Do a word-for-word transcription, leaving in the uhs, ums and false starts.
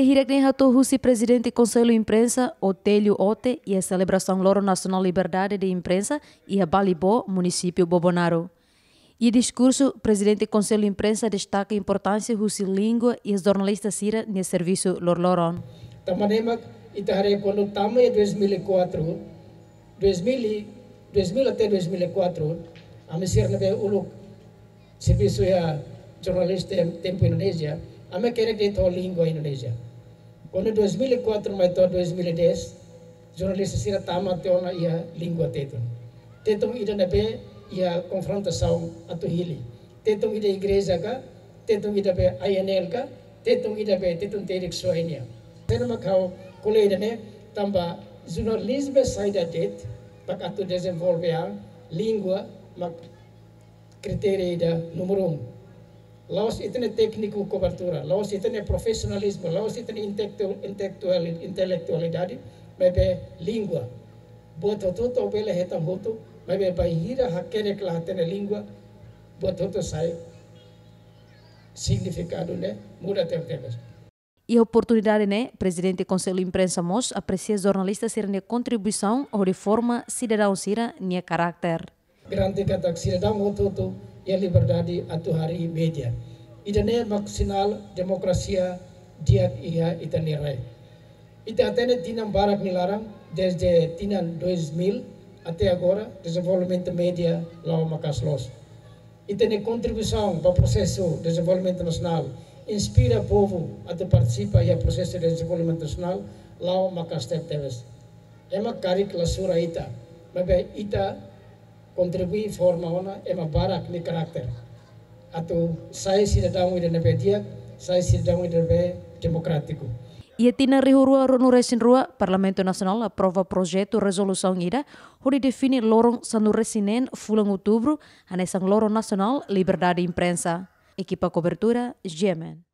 Hirak ne'e hato'o husi Prezidente Konsellu Imprensa, Otélio Ote, iha selebrasaun Loron Nasionál Liberdade de Imprensa iha Balibó, Munisípiu Bobonaro. Iha diskursu, Prezidente Konsellu Imprensa destaka importánsia husi língua iha jornalista sira-nia servisu loroloron. Tanba ne'e mak ita haree kuandu tama iha dois mil e quatro, dois mil, dois mil até dois mil e quatro, ami sira ne'ebé uluk servisu iha jornalista tempu Indonézia, ami hakerek de'it ho língua Indonézia. Kuandu dois mil e quatro mai to'o dois mil e dez, jornalista sira tama tiha ona iha língua Tetun. Tetun ida ne'ebé iha konfrontasaun atu hili. Tetun ida igreja ka, Tetun ida be A N L ka, Tetun ida be Tetun Terik Suainia. Sena mak ha'u ko'alia ida-ne'e, tanba jornalizmu saida de'it, para atu dezenvolve an, língua mak kritéria ida númeru um. La'ós ita-nia tékniku kobertura, la'ós ita-nia profesionalizmu, la'ós ita-nia intelektu-, intelektual-, intelektualidade, maibé língua. Buat hotu-hotu bele hetan hotu, maibé bainhira hakerek la hatene língua, buat hotu sai signifikadu ne'e muda tebetebes. Iha oportunidade ne'e, Prezidente Konsellu Imprensa mós apresia jornalista sira-nia kontribuisaun hodi forma sidadaun sira-nia karakter. Garante katak sidadaun hotu-hotu iha liberdade atu harii média. Ida-ne'e mak sinál demokrasia di'ak iha ita-nia rai. Ita hatene tinan barak nia laran, desde tinan dois mil até agora, dezenvolvimentu média la'o maka'as loos. Ita-nia kontribuisaun ba prosesu dezenvolvimentu nasionál, inspira povu atu partisipa iha prosesu dezenvolvimentu nasionál, la'o maka'as tebetebes. Ema karik la sura ita, maibé ita kontribui forma ona ema barak nia karakter atu sai sidadaun ida ne'ebé di'ak, sai sidadaun ida ne'ebé demokrátiku. Iha tinan rihun rua ruanulu-resin-rua, Parlamentu Nasionál aprova projetu rezolusaun ida hodi define loron sanulu-resin-neen fulan Outubru hanesan Loron Nasionál Liberdade Imprensa. Ekipa kobertura, G M N.